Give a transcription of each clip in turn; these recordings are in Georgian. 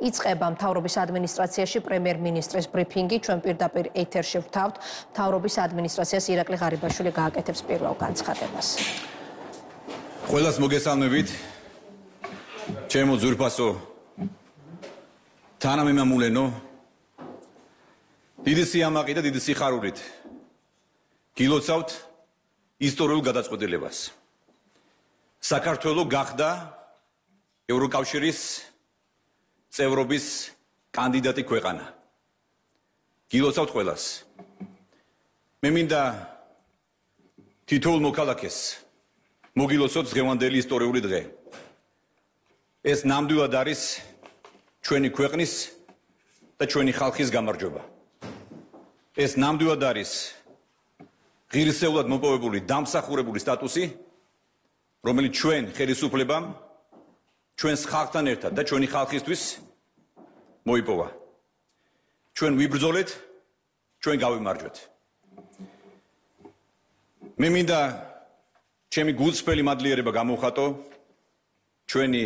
იწყება მთავრობის ადმინისტრაციაში პრემიერ-მინისტრის ბრიფინგი. ჩვენ პირდაპირ ეთერში ვთავთ. მთავრობის ადმინისტრაციას ირაკლი ღარიბაშვილი გააკეთებს პირველ განცხადებას. ყველას მოგესალმებით. ჩემო ძვირფასო თანამემამულენო, დიდი სიამაყი და დიდი სიხარულით გილოცავთ ისტორიულ გადაწყვეტილებას. საქართველო გახდა ევროკავშირის წევრობის კანდიდატი ქვეყანა. გილოცავთ ყველას. მე მინდა თითოეულ მოქალაქეს მოგილოცოთ დღევანდელი ისტორიული დღე. ეს ნამდვილად არის ჩვენი ქვეყნის და ჩვენი ხალხის გამარჯვება. ეს ნამდვილად არის ღირსეულად მოპოვებული დამსახურებული სტატუსი, რომელიც ჩვენ ხელისუფლებამ ჩვენს ხალხთან ერთად და ჩვენი ხალხისთვის მოიპოვა. ჩვენ ვიბრძოლეთ, ჩვენ გავიმარჯვეთ. მე მინდა ჩემი გულწრფელი მადლიერება გამოვხატო ჩვენი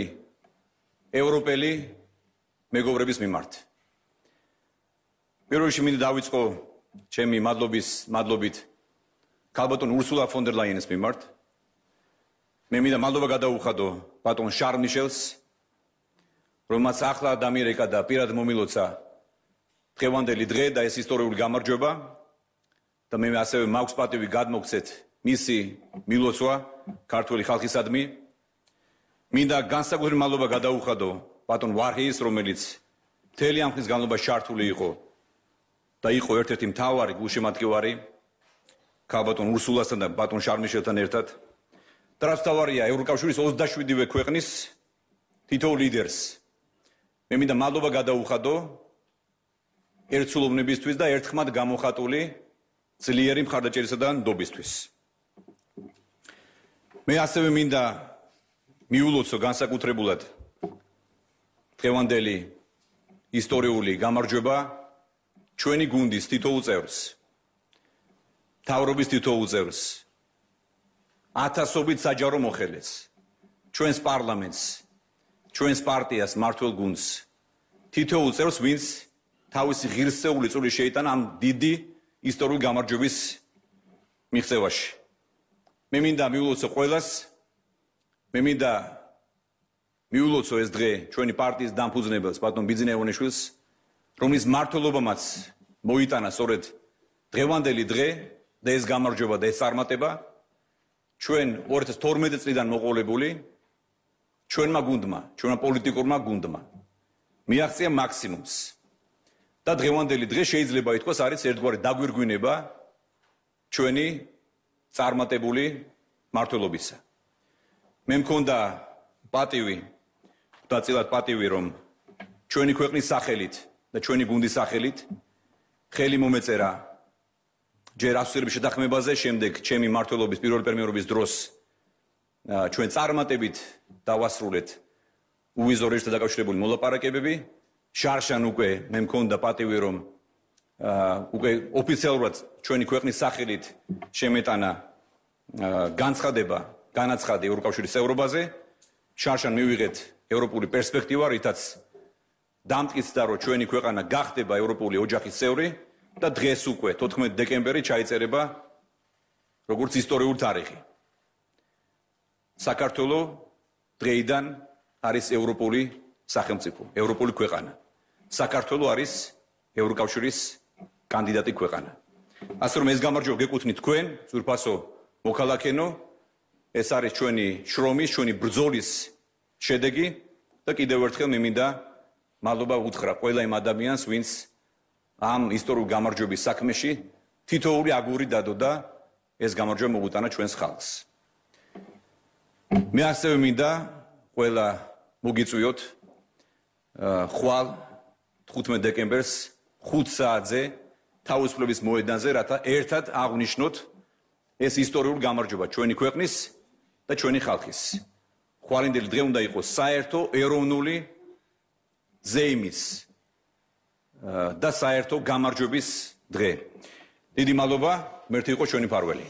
ევროპელი მეგობრების მიმართ. პირველ რიგში მინდა დავიწყო ჩემი მადლობით ქალბატონ ურსულა ფონ დერ ლაიენის მიმართ. მე მინდა მადლობა გადაუხადო ბატონ შარლ მიშელს, რომელმაც ახლა დამირეკა და პირად მომილოცა დღევანდელი დღე და ეს ისტორიული გამარჯვება და მე ასევე მაქვს პატივი გადმოგცეთ მისი მილოცვა ქართული ხალხისადმი. მინდა განსაკუთრებული მადლობა გადაუხადო ბატონ ვარჰეის, რომელიც მთელი ამ ხნის განმავლობაში ჩართული იყო და იყო ერთ-ერთი მთავარი გულშემატკივარი ქალბატონ ურსულასთან და ბატონ შარლ მიშელთან ერთად. და რაც მთავარია, ევროკავშირის 27-ვე ქვეყნის თითოეულ ლიდერს მე მინდა მადლობა გადაუხადო ერთსულოვნებისთვის და ერთხმად გამოხატული ძლიერი მხარდაჭერისა და ნდობისთვის. მე ასევე მინდა მიულოცო განსაკუთრებულად დღევანდელი ისტორიული გამარჯვება ჩვენი გუნდის თითოეულ წევრს, მთავრობის თითოეულ წევრს, ათასობით საჯარო მოხელეს, ჩვენს პარლამენტს, ჩვენს პარტიას, მმართველ გუნდს, თითოეულ წევრს, ვინც თავისი ღირსეული წვლილი შეიტანა ამ დიდი ისტორიული გამარჯვების მიღწევაში. მე მინდა მიულოცო ყველას, მე მინდა მიულოცო ეს დღე ჩვენი პარტიის დამფუძნებელს, ბატონ ბიძინა ივანიშვილს, რომლის მმართველობამაც მოიტანა სწორედ დღევანდელი დღე და ეს გამარჯვება და ეს წარმატება ჩვენ 2012 წლიდან მოყოლებული ჩვენმა გუნდმა, ჩვენმა პოლიტიკურმა გუნდმა მიაღწია მაქსიმუმს. და დღევანდელი დღე შეიძლება ითქვას არის ერთგვარი დაგვირგვინება ჩვენი წარმატებული მმართველობისა. მე მქონდა პატივი, დაწილად პატივი, რომ ჩვენი ქვეყნის სახელით და ჩვენი გუნდის სახელით ხელი მომეწერა ჯერ ასოცირების შეთანხმებაზე, შემდეგ ჩემი მმართველობის პირველი პრემიერობის დროს ჩვენ წარმატებით დავასრულეთ უვიზო რეჟიმთან დაკავშირებული მოლაპარაკებები. შარშან უკვე მე მქონდა პატივი, რომ უკვე ოფიციალურად ჩვენი ქვეყნის სახელით შემეტანა განაცხადი ევროკავშირის წევრობაზე. შარშან მივიღეთ ევროპული პერსპექტივა, რითაც დამტკიცდა, რომ ჩვენი ქვეყანა გახდება ევროპული ოჯახის წევრი და დღეს უკვე 14 დეკემბერი ჩაიწერება როგორც ისტორიული თარიღი. საქართველო დღეიდან არის ევროპული სახელმწიფო, ევროპული ქვეყანა. საქართველო არის ევროკავშირის კანდიდატი ქვეყანა. ასე რომ ეს გამარჯვება გეკუთვნით თქვენ, ძვირფასო მოქალაქენო, ეს არის ჩვენი შრომის, ჩვენი ბრძოლის შედეგი და კიდევ ერთხელ მე მინდა მადლობა უთხრა ყველა იმ ადამიანს, ვინც ამ ისტორიული გამარჯვების საქმეში თითოეული აგური დადო და ეს გამარჯვება მოუტანა ჩვენს ხალხს. მე ასევე მინდა ყველა მოგიწვიოთ ხვალ 15 დეკემბერს 5 საათზე თავისუფლების მოედანზე, რათა ერთად აღვნიშნოთ ეს ისტორიული გამარჯვება ჩვენი ქვეყნის და ჩვენი ხალხის. ხვალინდელი დღე უნდა იყოს საერთო ეროვნული ზეიმის და საერთო გამარჯვების დღე. დიდი მადლობა, მერტი იყო ჩვენი მფარველი.